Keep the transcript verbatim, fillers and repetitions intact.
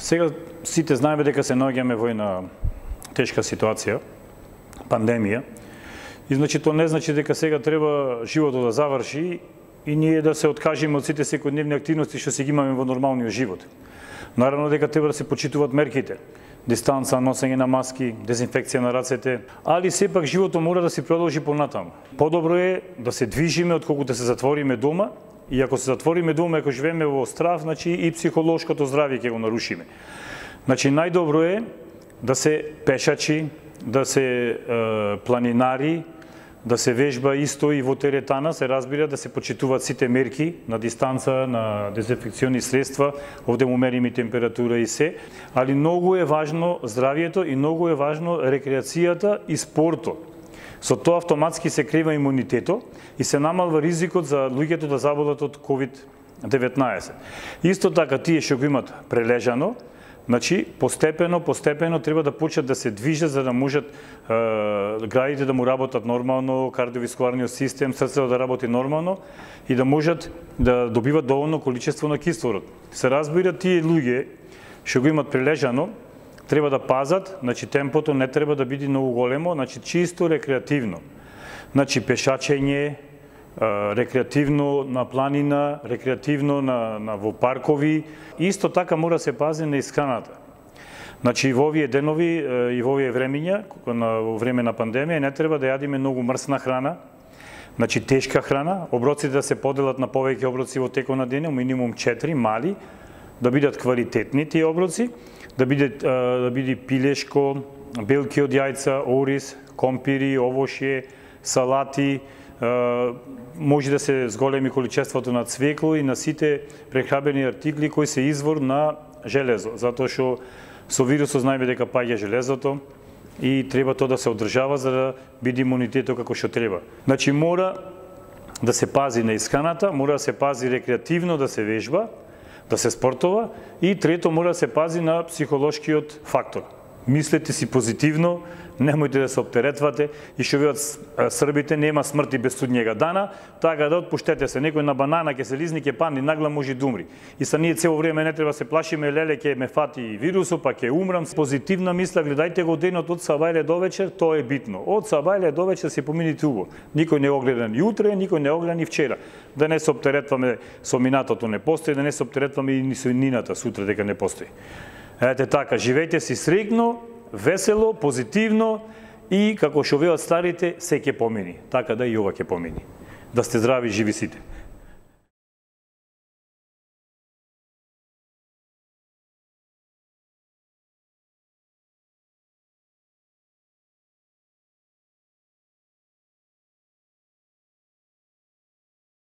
Сега сите знаеме дека се наоѓаме во една тешка ситуација, пандемија. И значи тоа не значи дека сега треба животот да заврши и ние да се откажеме од сите секојдневни активности што си ги имаме во нормалниот живот. Наравно дека треба да се почитуваат мерките. Дистанца, носење на маски, дезинфекција на рацете, али сепак животот мора да се продолжи понатаму. Подобро е да се движиме отколку да се затвориме дома, и ако се затвориме дома, ако живееме во страв, значи и психолошкото здравје ќе го нарушиме. Значи најдобро е да се пешачи, да се е, планинари, да се вежба исто и во теретана, се разбира да се почитуваат сите мерки на дистанца, на дезинфекциони средства, овде му мериме температура и се, али многу е важно здравјето и многу е важно рекреацијата и спортот. Со тоа автоматски се крива имунитетот и се намалва ризикот за луѓето да заболат од ковид деветнаесет. Исто така тие што го имат прележано, значи постепено, постепено треба да почнат да се движат за да можат е, градите да му работат нормално, кардиоваскуларниот систем, срцето да работи нормално и да можат да добиват доволно количество на кислород. Се разбира тие луѓе што го имат прележано, треба да пазат, значи темпото не треба да биде многу големо, значи чисто рекреативно. Значи пешачење, рекреативно на планина, рекреативно на, на во паркови. Исто така мора се пази на исхраната. Значи во овие денови и во овие времиња, во време на пандемија, не треба да јадиме многу мрсна храна, значи тешка храна, оброците да се поделат на повеќе оброци во текот на денот, минимум четири мали, да бидат квалитетни тие оброци, да биде да биде пилешко, белки од јајца, ориз, компири, овошје, салати, може да се зголеми количеството на цвекло и на сите прехрабени артикли кои се извор на железо, затоа што со вирусот знаеме дека паѓа железото и треба тоа да се одржава за да биде имунитетот како што треба. Значи мора да се пази на исхраната, мора да се пази рекреативно да се вежба, да се спортова и трето мора да се пази на психолошкиот фактор. Мислете си позитивно, немојте да се оптеретвате и што велат србите, нема смрти без судњега дана, така да отпуштете се. Некој на банана ќе се лизни, ќе падне, нагла може да умри. И са ние цело време не треба се плашиме, леле ќе ме фати вирусот, па ќе умрам. Позитивна мисла, гледајте го денот од сабајле до вечер, тоа е битно. Од сабајле до вечер се помините убаво. Никој не го гледа ни утре, никој не го гледа ни вчера. Да не се оптеретваме со минатото не постои, да не се оптеретваме и ни со нината сутре дека не постои. Ете така, живејте си среќно, весело, позитивно и како што велат старите, се ќе помини. Така да и ова ќе помини. Да сте здрави и живи сите.